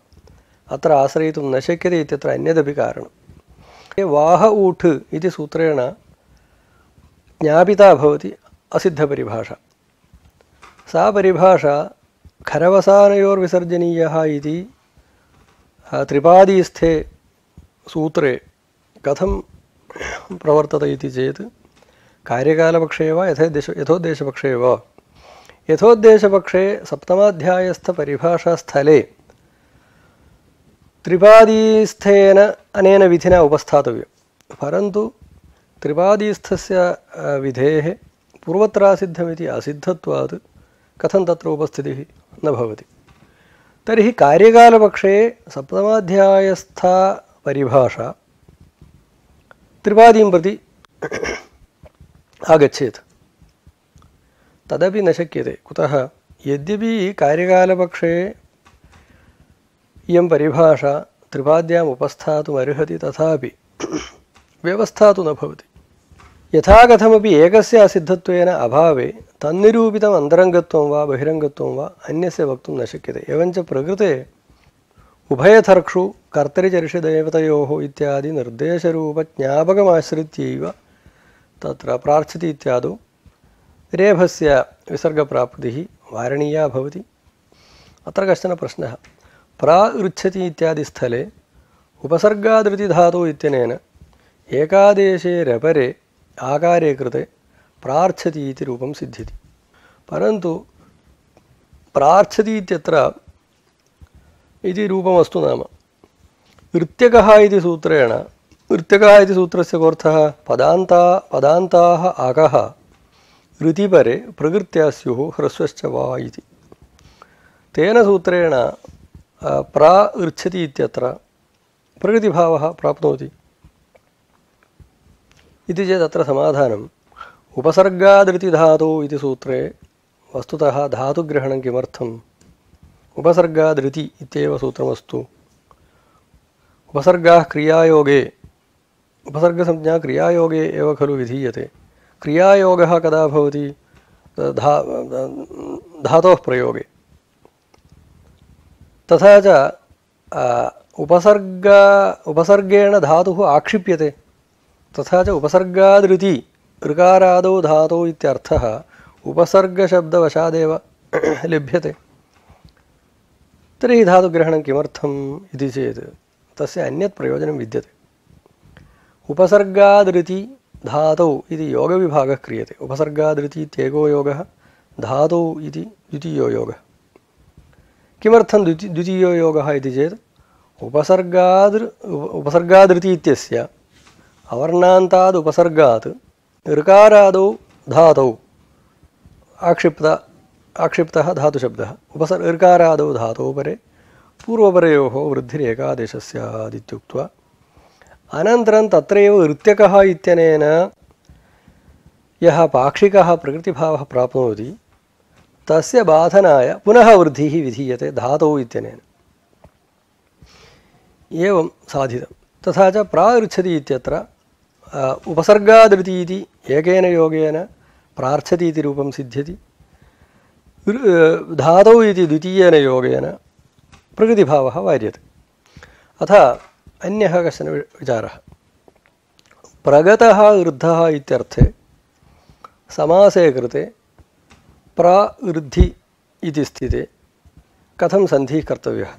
अत्र आश्रयितुं न शक्यते इत्यत्र अन्यदपि कारणं। वाह ऊठ् इति सूत्रेण ज्ञापिता भवति असिद्धपरिभाषा। सा परिभाषा खरवसानयोर्विसर्जनीयः इति त्रिपादीस्थे सूत्रे कथं प्रवर्तते इति चेत् कार्यकालपक्षे वा यथोद्देशपक्षे वा। यथोद्देशपक्षे सप्तमाध्यायस्थपरिभाषास्थले त्रिपादीस्थेन अनेन विधिना उपस्थातव्यं। परन्तु त्रिपादीस्थस्य विधेः पूर्वत्रासिद्धमिति असिद्धत्वात् कथं तत्र उपस्थितिः न भवति। तर्हि कार्यकालपक्षे सप्तमाध्यायस्था परिभाषा त्रिपादीं प्रति आगच्छेत् तदपि न शक्यते। कुतः? यद्यपि कार्यकालपक्षे इयं परिभाषा त्रिपाद्याम् उपस्थातुमर्हति तथापि व्यवस्था तु न भवति। यथा कथमपि एकस्य असिद्धत्वेन अभावे तन्निरूपितम् अन्तरङ्गत्वं वा बहिरङ्गत्वं वा अन्यस्य वक्तुं न शक्यते। एवञ्च प्रकृते उभयथर्क्षु कर्तरिचर्षदेवतयोः इत्यादि निर्देशरूपज्ञापकमाश्रित्यैव तत्र प्रार्थ्यति इत्यादौ रेफस्य विसर्गप्राप्तिः वारणीया भवति। अत्र कश्चन प्रश्नः। प्राऋच्छति इत्यादि स्थले उपसर्गादृतिधातुः इत्यनेन एकादेशे रपरे आकारे कृते प्रार्थ्यति इति रूपं सिद्ध्यति। परन्तु प्रार्थ्यति इत्यत्र इति रूपमस्तु नाम ऋत्यकः इति सूत्रेण ऋत्यकः इति सूत्रस्य कोऽर्थः? पदान्ताः आकः ऋतिपरे प्रकृत्या स्युः ह्रस्वश्च वा इति। तेन सूत्रेण प्राऋच्छति इत्यत्र प्रकृतिभावः प्राप्नोति इति चेत् अत्र समाधानम् उपसर्गादृतिधातौ इति सूत्रे वस्तुतः धातुग्रहणं किमर्थम्? उपसर्गादृति इत्येव सूत्रमस्तु। उपसर्गाः क्रियायोगे उपसर्गसंज्ञा क्रियायोगे एव खलु विधीयते। क्रियायोगः कदा भवति? धातोः प्रयोगे। तथा च उपसर्गेण धातुः आक्षिप्यते। तथा च उपसर्गादृति ऋकारादौ धातौ इत्यर्थः उपसर्गशब्दवशादेव लभ्यते। तर्हि धातुग्रहणं किमर्थम् इति चेत् तस्य अन्यत् प्रयोजनं विद्यते। उपसर्गादृति धातौ इति योगविभागः क्रियते। उपसर्गादृति इत्येको योगः, धातौ इति द्वितीयो योगः। किमर्थं द्वितीयो योगः इति चेत् उपसर्गादृति इत्यस्य अवर्णान्ताद् उपसर्गात् ऋकारादौ धातौ आक्षिप्तः धातुशब्दः ऋकारादौ धातौ परे पूर्वपरयोः वृद्धिरेकादेशः स्यादित्युक्त्वा अनन्तरं तत्रैव ऋत्यकः इत्यनेन यः पाक्षिकः प्रकृतिभावः प्राप्नोति तस्य बाधनाय पुनः वृद्धिः विधीयते धातौ इत्यनेन। एवं साधितं। तथा च प्राऋच्छति इत्यत्र उपसर्गादृति इति एकेन योगेन प्रार्थ्यति इति रूपं सिद्ध्यति। धातौ इति द्वितीयेन योगेन प्रकृतिभावः वार्यते। अथ अन्यः कश्चन विचारः। प्रगतः ऋद्धः इत्यर्थे समासे कृते प्राऋद्धि इति स्थिते कथं सन्धिः कर्तव्यः?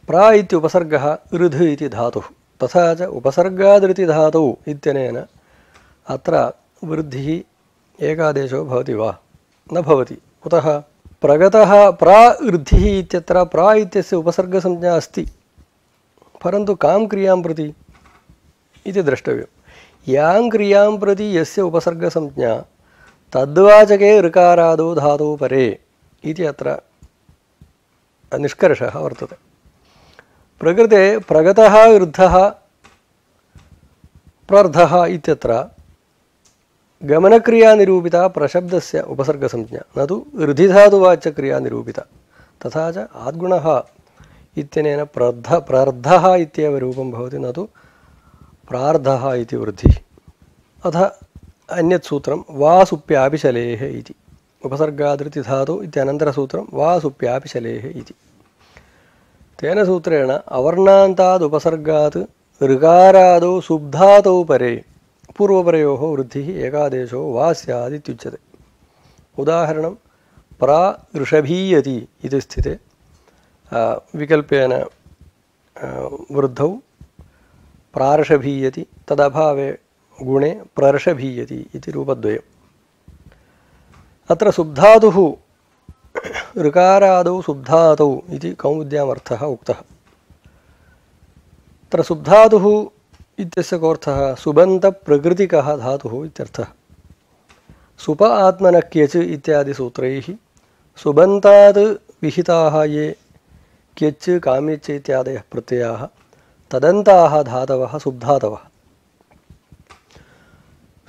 प्रा इत्युपसर्गः ऋध इति धातुः। तथा च उपसर्गादृतिधातौ इत्यनेन अत्र वृद्धिः एकादेशो भवति वा? न भवति। कुतः? प्रगतः प्राऋद्धिः इत्यत्र प्रा इत्यस्य उपसर्गसंज्ञा अस्ति, परन्तु कां क्रियां प्रति इति द्रष्टव्यं। यां क्रियां प्रति यस्य उपसर्गसंज्ञा तद्वाचके ऋकारादौ धातौ परे इति अत्र निष्कर्षः वर्तते। प्रकृते प्रगतः ऋद्धः प्रर्धः इत्यत्र गमनक्रियानिरूपिता प्रशब्दस्य उपसर्गसंज्ञा, न तु ऋधिधातुवाच्यक्रियानिरूपिता। तथा च आद्गुणः इत्यनेन प्रर्धः इत्येव रूपं भवति, न तु प्रार्धः इति वृद्धिः। अथ अन्यत् सूत्रं वासुप्यापिशलेः इति। उपसर्गादृतिधातु इत्यनन्तरसूत्रं वासुप्यापिशलेः इति। तेन सूत्रेण अवर्णान्ताद् उपसर्गात् ऋकारादौ सुब्धातौ परे पूर्वपरयोः वृद्धिः एकादेशो वा स्यादित्युच्यते। उदाहरणं प्राऋषभीयति इति स्थिते विकल्पेन वृद्धौ प्राऋषभीयति, तदभावे गुणे प्रर्षभीयति इति रूपद्वयम्। अत्र सुब्धातुः ऋकारादौ सुब्धातौ इति कौमुद्यामर्थः उक्तः। अत्र सुब्धातुः इत्यस्य कोऽर्थः? सुबन्तप्रकृतिकः धातुः इत्यर्थः। सुप आत्मनक्यच् इत्यादि सूत्रैः सुबन्तात् विहिताः ये क्यच् काम्यच् इत्यादयः प्रत्ययाः तदन्ताः धातवः सुब्धातवः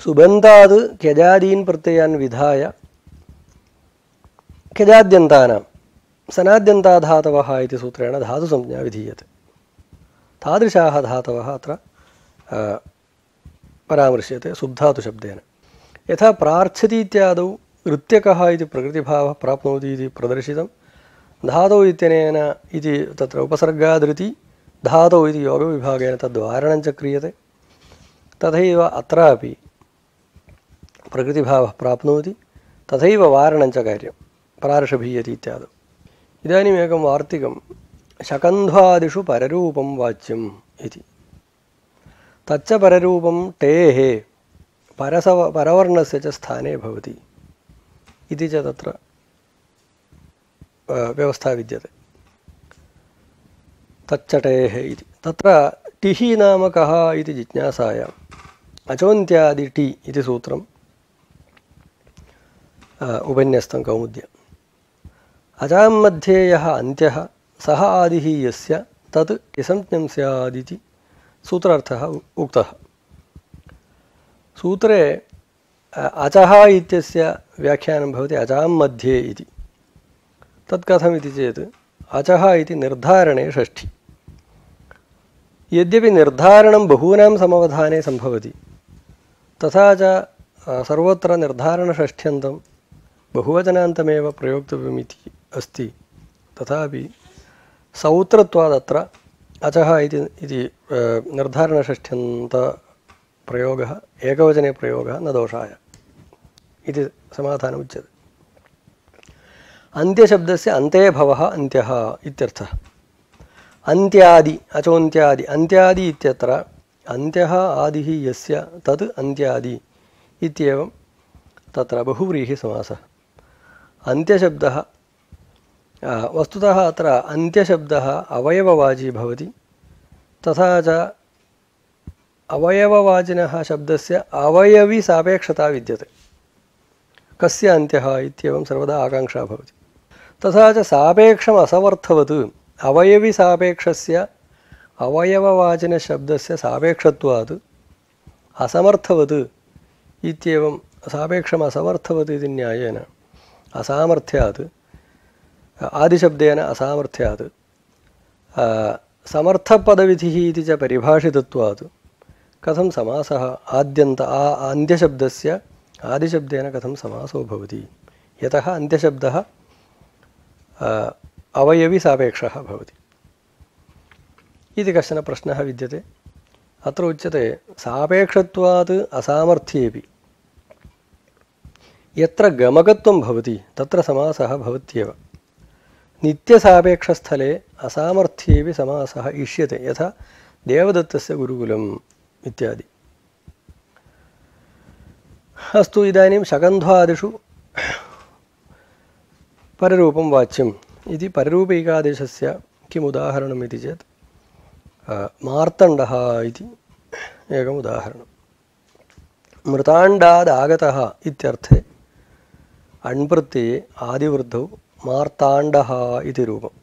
सुबन्ताद् क्यजादीन् प्रत्ययान् विधाय क्यजाद्यन्तानां सनाद्यन्ताधातवः इति सूत्रेण धातुसंज्ञा विधीयते। तादृशाः धातवः अत्र परामृश्यते सुब्धातुशब्देन। यथा प्रार्थ्यति इत्यादौ ऋत्यकः इति प्रकृतिभावः प्राप्नोति इति प्रदर्शितं, धातौ इत्यनेन इति तत्र उपसर्गादृति धातौ इति योगविभागेन तद्वारणञ्च क्रियते। तथैव अत्रापि प्रकृतिभावः प्राप्नोति, तथैव वारणञ्च कार्यं प्रार्षभीयति इत्यादौ। इदानीम् एकं वार्तिकं शकन्ध्वादिषु पररूपं वाच्यम् इति। तच्च पररूपं टेः परवर्णस्य च स्थाने भवति इति च तत्र व्यवस्था विद्यते। तच्च टेः इति तत्र टिः नाम कः इति जिज्ञासायाम् अचोन्त्यादि टि इति सूत्रम् उपन्यस्तं कौमुद्याम्। अजां मध्ये यः अन्त्यः सः आदिः यस्य तत् टिसंज्ञं स्यादिति सूत्रार्थः उक्तः। सूत्रे अचः इत्यस्य व्याख्यानं भवति अजां मध्ये इति। तत् कथमिति चेत् अचः इति निर्धारणे षष्ठी। यद्यपि निर्धारणं बहूनां समवधाने सम्भवति, तथा च सर्वत्र निर्धारणषष्ठ्यन्तं बहुवचनान्तमेव प्रयोक्तव्यमिति अस्ति, तथापि सौत्रत्वादत्र अचः इति निर्धारणषष्ठ्यन्तप्रयोगः एकवचने प्रयोगः न दोषाय इति समाधानमुच्यते। अन्त्यशब्दस्य अन्ते भवः अन्त्यः इत्यर्थः। अन्त्यादि अचोन्त्यादि अन्त्यादि इत्यत्र अन्त्यः आदिः यस्य तत् अन्त्यादि इत्येवं तत्र बहुव्रीहिसमासः। अन्त्यशब्दः वस्तुतः अत्र अन्त्यशब्दः अवयववाची भवति, तथा च अवयववाचिनः शब्दस्य अवयविसापेक्षता विद्यते। कस्य अन्त्यः इत्येवं सर्वदा आकाङ्क्षा भवति। तथा च सापेक्षम् असमर्थवत् अवयविसापेक्षस्य अवयववाचिनशब्दस्य सापेक्षत्वात् असमर्थवत् इत्येवं सापेक्षम् असमर्थवत् इति न्यायेन असामर्थ्यात् आदिशब्देन असामर्थ्यात् समर्थपदविधिः इति च परिभाषितत्वात् कथं समासः अन्त्यशब्दस्य आदिशब्देन कथं समासो भवति, यतः अन्त्यशब्दः अवयविसापेक्षः भवति इति कश्चन प्रश्नः विद्यते। अत्र उच्यते सापेक्षत्वात् असामर्थ्येपि यत्र गमकत्वं भवति तत्र समासः भवत्येव। नित्यसापेक्षस्थले असामर्थ्येपि समासः इष्यते, यथा देवदत्तस्य गुरुकुलम् इत्यादि। अस्तु, इदानीं शकन्ध्वादिषु पररूपं वाच्यम् इति पररूपैकादेशस्य किम् उदाहरणम् इति चेत् मार्तण्डः इति एकम् उदाहरणं। मृताण्डादागतः इत्यर्थे अण्प्रत्यये आदिवृद्धौ मार्ताण्डः इति रूपम्।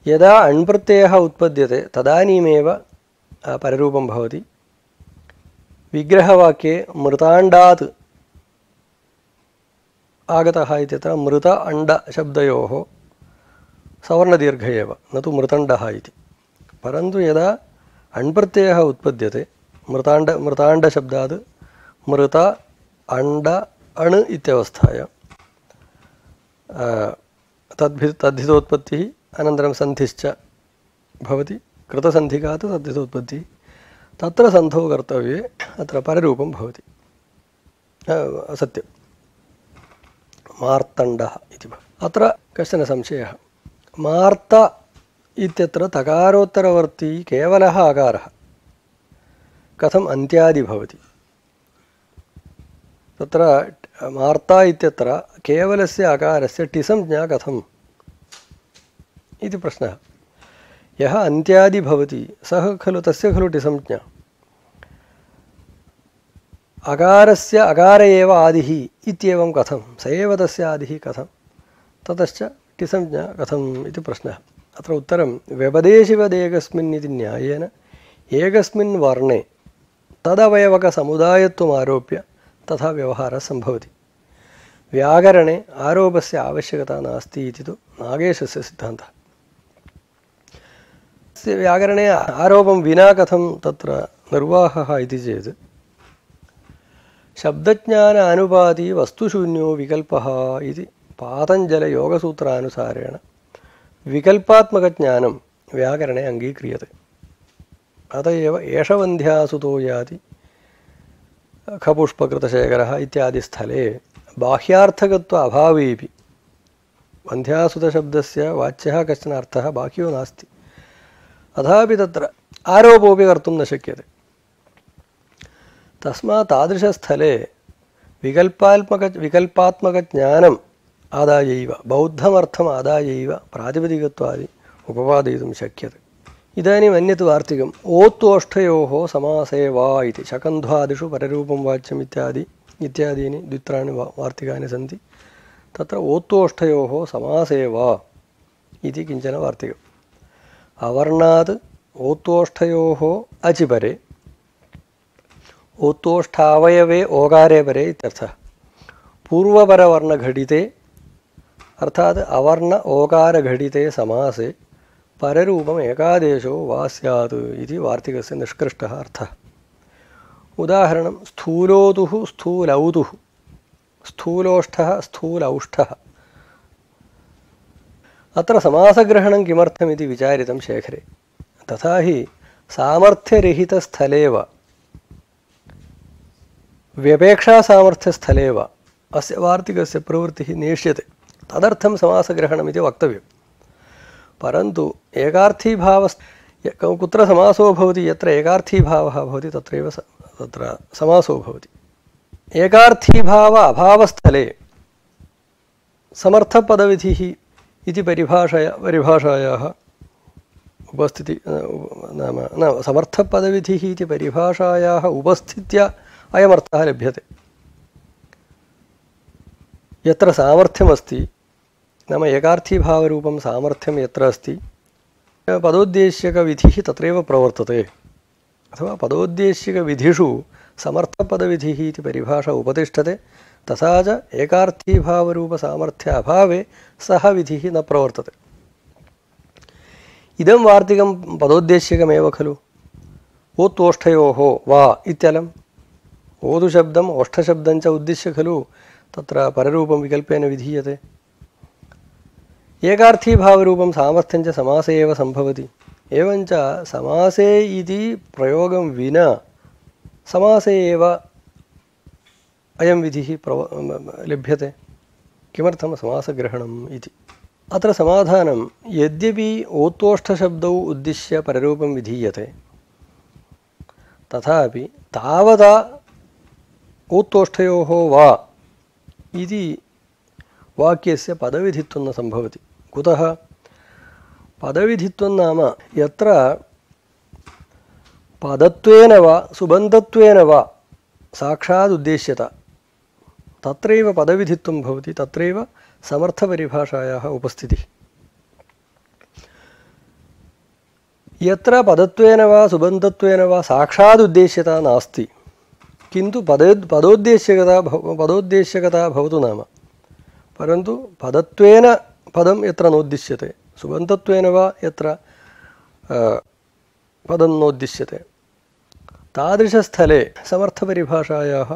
यदा अण्प्रत्ययः उत्पद्यते तदानीमेव पररूपं भवति। विग्रहवाक्ये मृताण्डात् आगतः इत्यत्र मृत अण्ड शब्दयोः सवर्णदीर्घ एव, न तु मृतण्डः इति। परन्तु यदा अण्प्रत्ययः उत्पद्यते मृताण्डशब्दात् मृत अण्ड अण् इत्यवस्थायां तद्धितोत्पत्तिः अनन्तरं सन्धिश्च भवति। कृतसन्धिकात् तद्धितोत्पत्तिः, तत्र सन्धौ कर्तव्ये अत्र पररूपं भवति। सत्यं मार्तण्डः इति भवति। अत्र कश्चन संशयः। मार्त इत्यत्र तकारोत्तरवर्ती केवलः अकारः कथम् अन्त्यादि भवति? तत्र मार्ता इत्यत्र केवलस्य अकारस्य टिसंज्ञा कथम् इति प्रश्नः। यः अन्त्यादि भवति सः खलु तस्य खलु टिसंज्ञा। अकारस्य अकार एव आदिः इत्येवं कथं, स एव तस्य आदिः कथं? ततश्च षष्टिसंज्ञा कथम् इति प्रश्नः। अत्र उत्तरं व्यपदेशिवदेकस्मिन् इति न्यायेन एकस्मिन् वर्णे तदवयवकसमुदायत्वम् आरोप्य तथा व्यवहारः सम्भवति। व्याकरणे आरोपस्य आवश्यकता नास्ति इति तु नागेशस्य सिद्धान्तः। व्याकरणे आरोपं विना कथं तत्र निर्वाहः इति चेत् शब्दज्ञान अनुपाती वस्तुशून्यो विकल्पः इति पातञ्जलयोगसूत्रानुसारेण विकल्पात्मकज्ञानं व्याकरणे अङ्गीक्रियते। अत एव एषवन्ध्यासुतो याति खपुष्पकृतशेखरः इत्यादि स्थले बाह्यार्थकत्व अभावेपि वन्ध्यासुतशब्दस्य वाच्यः कश्चन अर्थः बाह्यो नास्ति, अथापि तत्र आरोपोऽपि कर्तुं न शक्यते। तस्मात् तादृशस्थले विकल्पात्मकज्ञानम् आदायैव बौद्धमर्थम् आदायैव प्रातिपदिकत्वादि उपपादयितुं शक्यते। इदानीम् अन्यत् वार्तिकम् ओत्तोष्ठयोः समासे वा इति शकन्ध्वादिषु पररूपं वाच्यम् इत्यादीनि द्वित्राणि वार्तिकानि सन्ति। तत्र ओत्तोष्ठयोः समासे वा इति किञ्चन वार्तिकम्। अवर्णात् ओत्तोष्ठयोः अचिपरे ओत्तोष्ठावयवे ओकारे परे इत्यर्थः। पूर्वपरवर्णघटिते अर्थात् अवर्ण ओकारघटिते समासे पररूपम् एकादेशो वा स्यात् इति वार्तिकस्य निष्कृष्टः अर्थः। उदाहरणं स्थूलोतुः स्थूलौतुः, स्थूलोष्ठः स्थूलौष्ठः। अत्र समासग्रहणं किमर्थमिति विचारितं शेखरे। तथा हि सामर्थ्यरहितस्थले वा व्यपेक्षासामर्थ्यस्थले वा अस्य वार्तिकस्य प्रवृत्तिः नेष्यते, तदर्थं समासग्रहणमिति वक्तव्यम्। परन्तु एकार्थीभाव कुत्र समासो भवति, यत्र एकार्थीभावः भवति तत्रैव तत्र समासो भवति। एकार्थीभाव अभावस्थले समर्थपदविधिः इति परिभाषायाः उपस्थिति नाम न समर्थपदविधिः इति परिभाषायाः उपस्थित्या अयमर्थः लभ्यते। यत्र सामर्थ्यमस्ति नाम एकार्थीभावरूपं सामर्थ्यं यत्र अस्ति पदोद्देश्यकविधिः तत्रैव प्रवर्तते, अथवा पदोद्देश्यकविधिषु समर्थपदविधिः इति परिभाषा उपतिष्ठते। तथा च एकार्थीभावरूपसामर्थ्य अभावे सः विधिः न प्रवर्तते। इदं वार्तिकं पदोद्देश्यकमेव खलु। ओत्तोष्ठयोः वा इत्यलम् ओदुशब्दम् ओष्ठशब्दं च उद्दिश्य खलु तत्र पररूपं विकल्पेन विधीयते। एकार्थीभावरूपं सामर्थ्यं च समासे एव सम्भवति। एवञ्च समासे इति प्रयोगं विना समासे एव अयं विधिः लभ्यते। किमर्थं समासग्रहणम् इति। अत्र समाधानं यद्यपि ओत्तोष्ठशब्दौ उद्दिश्य पररूपं विधीयते तथापि तावता ओत्तोष्ठयोः वा इति वाक्यस्य पदविधित्वं न सम्भवति। कुतः? पदविधित्वं नाम यत्र पदत्वेन वा सुबन्धत्वेन वा साक्षात् उद्देश्यता तत्रैव पदविधित्वं भवति, तत्रैव समर्थपरिभाषायाः उपस्थितिः। यत्र पदत्वेन वा सुबन्धत्वेन वा साक्षात् उद्देश्यता नास्ति किन्तु पदोद्देश्यकता भवतु नाम, परन्तु पदत्वेन पदं यत्र नोद्दिश्यते सुबन्धत्वेन वा यत्र पदं नोद्दिश्यते तादृशस्थले समर्थपरिभाषायाः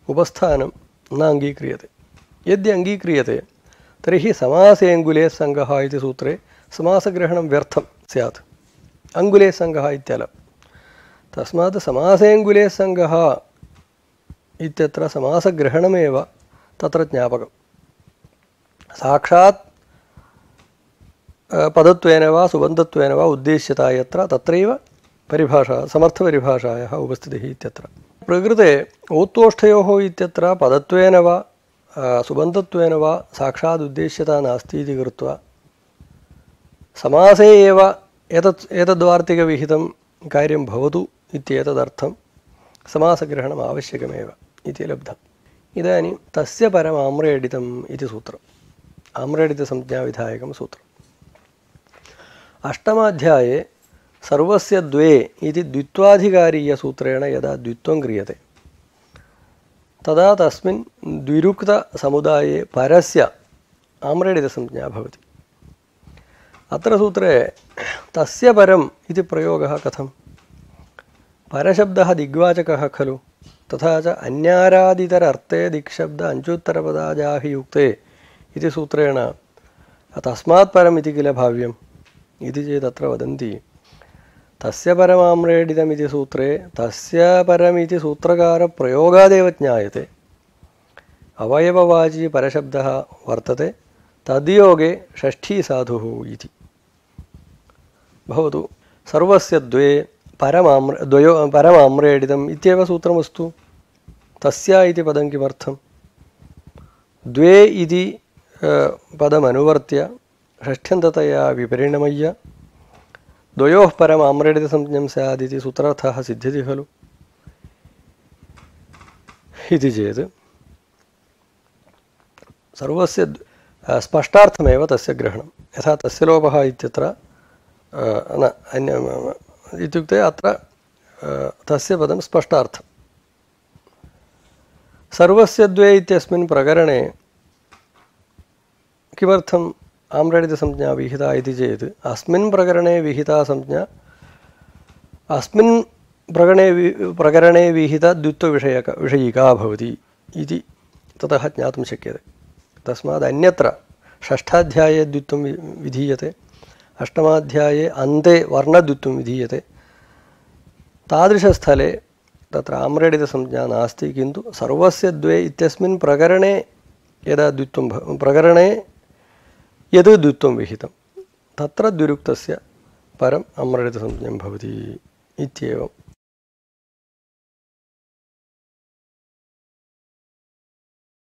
उपस्थानं न अङ्गीक्रियते। यद्य अङ्गीक्रियते तर्हि समासेऽङ्गुले सङ्गः इति सूत्रे समासग्रहणं व्यर्थं स्यात्। अङ्गुले सङ्गः इत्यलं। तस्मात् समासेऽङ्गुले सङ्गः इत्यत्र समासग्रहणमेव तत्र ज्ञापकम्। साक्षात् पदत्वेन वा सुबन्धत्वेन वा उद्देश्यता यत्र तत्रैव परिभाषा समर्थपरिभाषायाः उपस्थितिः इत्यत्र। प्रकृते ओत्तोष्ठयोः इत्यत्र पदत्वेन वा सुबन्धत्वेन वा साक्षात् उद्देश्यता नास्ति इति कृत्वा समासे एव एतद्वार्तिकविहितं कार्यं भवतु इत्येतदर्थं समासग्रहणम् आवश्यकमेव इति लब्धम्। इदानीं तस्य परमाम्रेडितम् इति सूत्रम्। आम्रेडितसंज्ञाविधायकं सूत्रम्। अष्टमाध्याये सर्वस्य द्वे इति द्वित्वाधिकारीयसूत्रेण यदा द्वित्वं क्रियते तदा तस्मिन् द्विरुक्तसमुदाये परस्य आम्रेडितसंज्ञा भवति। अत्र सूत्रे तस्य परम् इति प्रयोगः कथम्? परशब्दः दिग्वाचकः खलु, तथा च अन्यारादितरर्थे दिक्शब्द अञ्चुत्तरपदाजाहियुक्ते इति सूत्रेण तस्मात् परम् इति किल भाव्यम् इति चेत् अत्र वदन्ति तस्य परमाम्रेडितमिति सूत्रे तस्य परमिति सूत्रकारप्रयोगादेव ज्ञायते। अवयववाची परशब्दः वर्तते, तद्योगे षष्ठी साधुः इति भवतु। सर्वस्य द्वे परमाम्रेडितम् इत्येव सूत्रमस्तु। तस्य इति पदं किमर्थं? द्वे इति पदमनुवर्त्य षष्ठ्यन्ततया विपरिणमय्य द्वयोः परम् आम्रेडितसंज्ञं स्यात् इति सूत्रार्थः सिद्ध्यति खलु। इति चेत् सर्वस्य स्पष्टार्थमेव तस्य ग्रहणं। यथा तस्य लोपः इत्यत्र न अन्य इत्युक्ते अत्र तस्य पदं स्पष्टार्थं। सर्वस्य द्वे इत्यस्मिन् प्रकरणे किमर्थम् आम्रेडितसंज्ञा विहिता इति चेत् अस्मिन् प्रकरणे विहिता संज्ञा अस्मिन् प्रकरणे विहिता द्वित्वविषयिका भवति इति ततः ज्ञातुं शक्यते। तस्मात् अन्यत्र षष्ठाध्याये द्वित्वं विधीयते, अष्टमाध्याये अन्ते वर्णद्वित्वं विधीयते। तादृशस्थले तत्र आम्रेडितसंज्ञा नास्ति, किन्तु सर्वस्य द्वे इत्यस्मिन् प्रकरणे यदा द्वित्वं प्रकरणे यद् द्वित्वं विहितं तत्र द्विरुक्तस्य परम् आम्रेडितसंज्ञं भवति इत्येवम्।